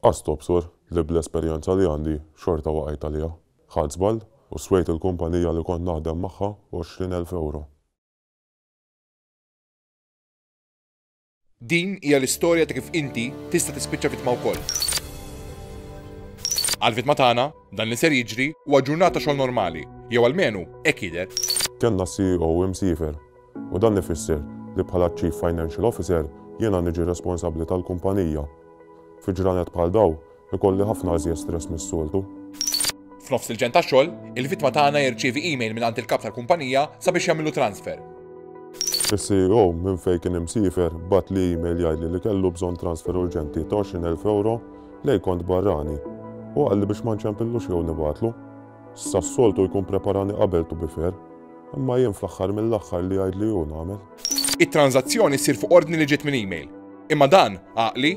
Qas tobsor li bl-esperjenza li għandi xorta waqajt għaliha. Ħadt żball u swejt il-kumpanija li kont naħdem magħha 20,000 ewro. Din hija l-istorja ta' kif inti tista' tispiċċa vittma wkoll. Għall-vittma tagħna, dan li ser jiġri huwa ġurnata xogħol normali, jew almenu hekk jidher. Kellna CEO imsiefer u dan ifisser li bħala Chief Financial Officer jiena niġi responsabbli tal-kumpanija. Fi ġranet bħal dawn, ikolli ħafna iżjed stress mis-soltu. F'nofs il-ġenn tax-xogħol, il-vittma tagħna jirċievi email mingħand il-kap tal-kumpanija sabiex jagħmillu transfer. Is-CEO, minn fejn kien imsiefer, bagħatli email jgħidli li kellu bżonn transfer urġenti ta' 20,000 ewro lejn kont barrani u qalli biex ma nċempillux jew nibgħatlu. Issa s-soltu jkun preparani qabel to be fair, imma jien fl-aħħar mill-aħħar li jgħidli hu nagħmel. It-tranżazzjoni ssir fuq ordni li ġiet minn email. Imma dan, għaqli?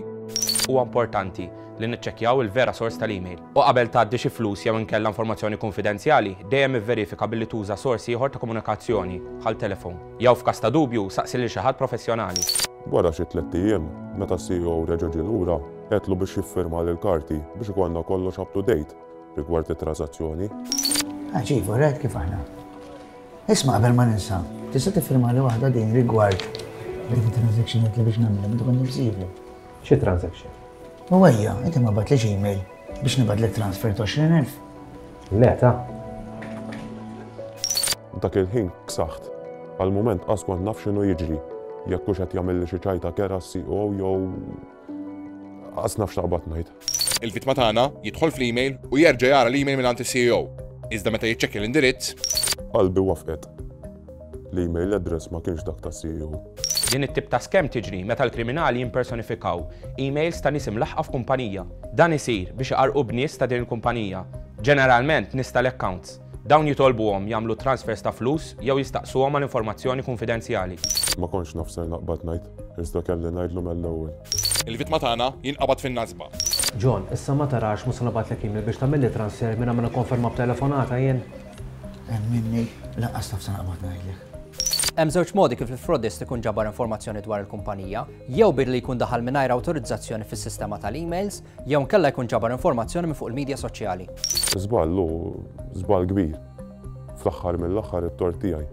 Huwa importanti li niċċekkjaw il-vera sors tal-email. U qabel tgħaddi xi flus jew inkella informazzjoni kunfidenzjali, dejjem ivverifika billi tuża sors ieħor ta' komunikazzjoni, bħal telefon. Jew f'każ ta' dubju, saqsi lil xi ħadd professjonali. Wara xi tlett ijiem, meta s-CEO reġa' ġie lura, għedtlu biex jiffirmali l-karti biex ikollna kollox up to date rigward it-trażazzjoni. Għaġib, rajt kif aħna. Isma' qabel ma ninsa, tista' tiffirmali waħda din rigward dik it-transaction li biex nagħmilha meta kont nirsivu. Xi transaction? U ejja, inti ma batlix email biex nibadlek transfer ta' 20,000. Le ta. Dak il-ħin ksaħt. Għal mument qas kont naf x'inhu jiġri, jekk hux qed jagħmilli xi ċajta kerha s-CEO jew qas naf x'taqbad ngħid. Il-vittma tagħna jidħol fl-email u jerġa' jara l-email mingħand is-CEO. Iżda meta jiċċekkja l-indirizz. Qalbi wafqet. L-email address ma kienx dak tas-CEO. Din it-tip ta' scam tiġri meta l-kriminali jimpersonifikaw emails ta' nies imlaħħqa f'kumpanija. Dan isir biex iqarrqu b'nies ta' din il-kumpanija, ġeneralment nies tal-accounts. Dawn jitolbuhom jagħmlu transfers ta' flus jew jistaqsuhom għal informazzjoni kunfidenzjali. Ma kontx naf x'ser naqbad ngħid, iżda kelli ngħidlu mell-ewwel. Il-vittma tagħna jinqabad fin-nasba. John, issa ma tarax mhux se nibgħatlek email biex tagħmilli transfer mingħajr ma nikkonferma b'telefonata jien? Emminni, lanqas naf se naqbad ngħidlek. Hemm żewġ modi kif il-frodist ikun ġabar informazzjoni dwar il-kumpanija, jew billi jkun daħal mingħajr awtorizzazzjoni fis-sistema tal-emails, Jew inkella jkun ġabar informazzjoni minn fuq il-midja soċjali. Żball hu żball kbir. Fl-aħħar mill-aħħar it-tort tiegħi.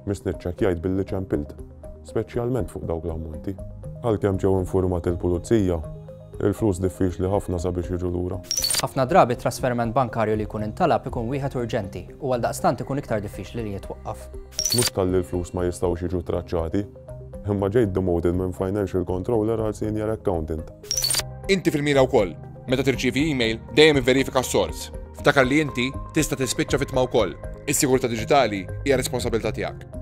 Missni ċċekkjajt billi ċempilt, speċjalment fuq dawk l-ammonti. Għalkemm ġew infurmati l-pulizija, il-flus diffiċli ħafna sabiex jiġu lura. Ħafna drabi t-trasferiment bankarju li jkun intalab ikun wieħed urġenti u għaldaqstant ikun iktar diffiċli li jitwaqqaf. Mhux talli l-flus ma jistgħux jiġu traċċati, imma ġejt demoted minn financial controller għal senior accountant. Inti fil-mira wkoll. Meta tirċievi email, dejjem ivverifika s-sors. Ftakar li inti tista' tispiċċa vittma wkoll. Is-sigurtà diġitali hija responsabilità tiegħek.